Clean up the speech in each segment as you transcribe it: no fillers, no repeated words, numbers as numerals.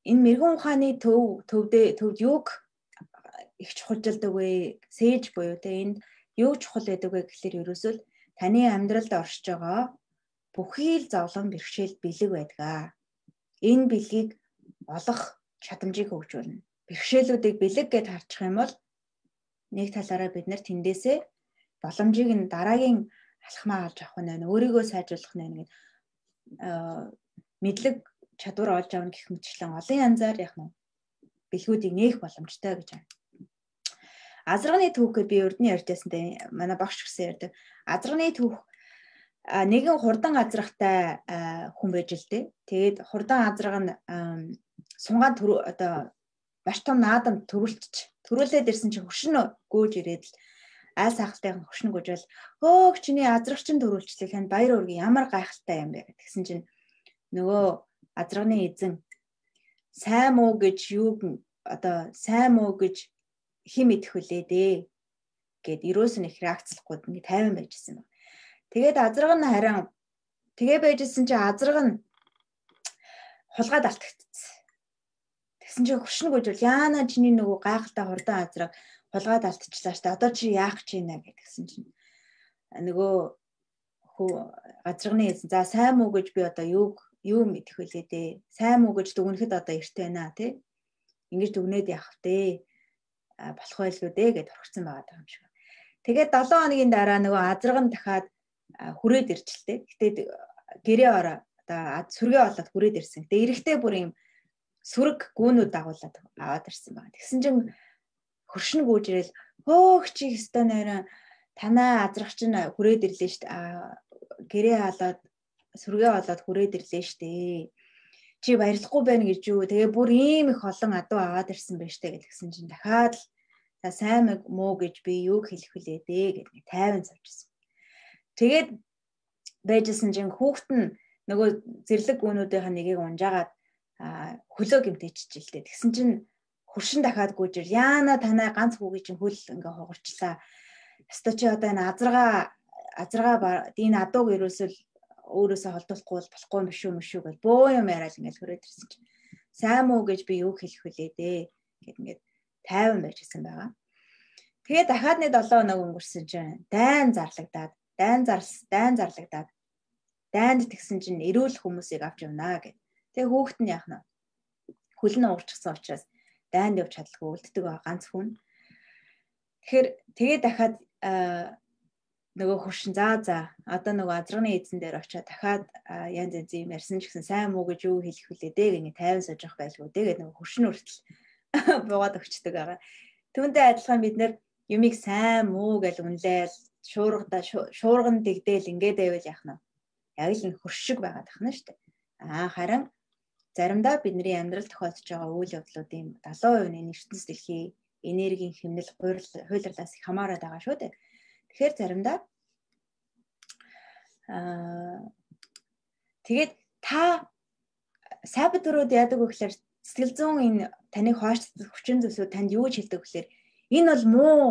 энэ мэрэгэн ухааны төвд юг их чухалжилдаг вэ? Сээж буюу те энд юу чухал байдаг вэ гэхэлэр ерөөсөө таны амьдралд оршиж байгаа бүхий л зовлон бэрхшээл бэлэг байдаг. Энэ бэлгийг олох чадамжийг хөгжүүлнэ. Бэрхшээлүүдийг бэлэг гэж харчих юм бол нэг талаараа бид нар тэндээсээ боломжийг нь дараагийн алхмаа олж авах нь өөрийгөө сайжруулах нь мэдлэг чадвар олж авах гэх мэтчлэн олон янзаар яг нь бэлгүүдийг нээх боломжтой гэж байна. Азарганы түүхээр би урд нь ярьжсэнтэй манай багш гэсэн ярьдаг. Азарганы түүх нэгэн хурдан азрахтай хүн байж л дээ. Тэгээд хурдан азраг нь сунгаан одоо маш том наадамд төрүүлээд ирсэн чинь хөшин гүйж ирээд л айл сайхалтайхан хөшин гүйжэл хөөх чиний азрагч нь төрүүлчихлээ хэн баяр үргийн ямар гайхалтай юм бэ гэсэн чинь нөгөө азрагны эзэн сайн муу гэж юу одоо сайн муу гэж хим идэх үлээ дээ гэд ерөөс нь их реакцлахгүй ингэ тайван байжсэн байна. Тэгээд азраг нь харин тэгээ байжсэн чинь азраг нь хулгайд алтагдчихсан. Тэгсэн чинь хөшин гүйжэл яана чиний нөгөө гайхалтай хурдан азраг хулгайд алтчихлаа штэ одоо чи яах гэж байна гэдгсэн чинь нөгөө азрагны эзэн за сайн муу гэж би одоо юу мэдэх вүлээ дээ сайн муу гэж дүгнэхэд одоо эрт байна тий ингэж дүгнээд явах дээ болох байлгүй дээ гэд орхирсан байгаа юм шиг. Тэгээд 7 хоногийн дараа нөгөө азраг нь дахиад хүрээд ирчихлээ. Гэтэ гэрээ ороо одоо сүргээ болоод хүрээд ирсэн. Тэгээд эрэхтэй бүр юм сүрэг гүүнүүд дагуулад аваад ирсэн байна. Тэгсэн чинь хөршин гүйж ирэл хөөх чи өстой нойрон танаа азрагч нь хүрээд ирлээ штэ гэрээ халаад сүргээ болоод хүрээд ирлээ штэ чи баярлахгүй байна гэж юу тэгээ бүр ийм их олон адуу аваад ирсэн байж штэ гэсэн чинь дахиад л за сайн муу гэж би юу хэлэх вүлээ дээ гэдэг тайван суучихсан. Тэгээд байжсэн чинь хүүхэд нь нөгөө зэрлэг гүнүүдийн нэгийг унжаагаад хөлөө гимтэйчихжээ. Тэгсэн чинь хөршин дахиад гүйжэр яана танай ганц хүүгийн чинь хөл ингээ хугарчлаа. Өстой чи одоо энэ азрага энэ адууг ерөөсөл өөрөөсөө холдуулахгүй болохгүй юм шүү гэж бөө юм яриад ингээ хүрээд ирсэн чинь сайн муу гэж би юу хэлэх вүлээ дээ гэд ингээ тайван байжсэн байгаа. Тэгээд дахиад нэг 7 хоног өнгөрсөн чинь дайн зарлагдаад дайнд тэгсэн чинь эрүүл хүмүүсийг авч явнаа гэд. Тэгээ хүүхэд нь яах нь хөл нь уурчихсан учраас дайнд явж чадлагүй үлддэг байгаа ганц хүн. Тэгэхээр тэгээ дахиад нөгөө хөршин за одоо нөгөө азрагны эзэн дээр очиад дахиад янз юм ярьсан ч гэсэн сайн муу гэж юу хэлэх вүлээ дээ гэнэ тайван сууж явах байлгүй дээ нөгөө хөршин хүртэл буугаад өгчдөг байгаа. Түүнтэй адилхан бид нэр юмыг сайн муу гэж үнлээл шуурган дэгдээл ингээд байвал яах нь яг л энэ хөршиг байгаад тахна шүү дээ. Харин заримдаа бидний амьдрал тохиолдож байгаа үйл явдлуудын 70% нь ертөнцийн дэлхийн энергийн хэмнэл хуулирлаас их хамаарат байгаа шүү дээ. Тэгэхээр заримдаа тэгээд та сабт өрөөд яадаг вэ гэхээр сэтгэл зүйн энэ таныг хооцдог хүчин зүйлсүүд танд юу ч хэлдэг гэхээр энэ бол муу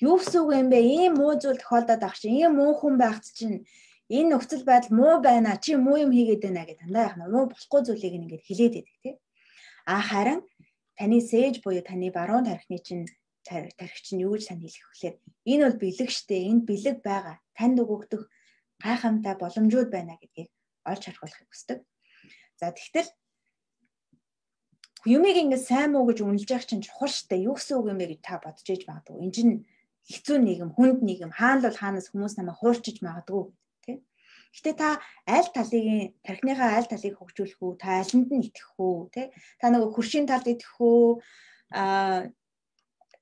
юу гэсэн үг юм бэ? Ийм муу зүйл тохиолдоод ах чинь ийм муу хүн байхт чинь энэ нөхцөл байдал муу байна чи муу юм хийгээд байна гэж дандаа яах нь муу болохгүй зүйлийг ингээд хэлээд байдаг тий. Харин таны сээж буюу таны баруун тархины чинь тархич нь юу гэж тань хэлэх вэхээр энэ бол бэлэг штэ энэ бэлэг байгаа танд өгөгдөх гайхамтай боломжууд байна гэдгийг олж харахыг хүсдэг. За тэгтэл юмыг ингээд сайн муу гэж үнэлж явах чинь чухал штэ юу гэсэн үг юм бэ гэж та бодож иж магадгүй. Энэ чинь хэцүү нийгэм хүнд нийгэм хаана л хаанаас хүмүүс намайг хуурчиж магадгүй тий. Гэтэ та аль талын тархиныхаа аль талыг хөгжүүлэх үү та алинд нь итгэх үү тий. Та нөгөө хөршийн талд итгэх үү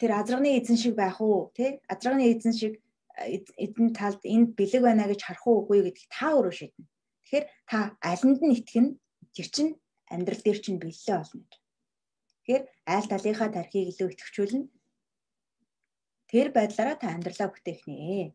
тэр азрагны эзэн шиг байх уу тий азрагны эзэн шиг эзэн талд энд бэлэг байна гэж харах уугүй гэдгийг та өөрөө шийднэ. Тэгэхээр та алинд нь итгэн тэр чинь амьдрал дээр чинь бэлээ болно гэж. Тэгэхээр аль талынхаа тархийг илүү идэвхжүүлнэ. Тэр байдлаараа та амьдралаа бүтээх нэ.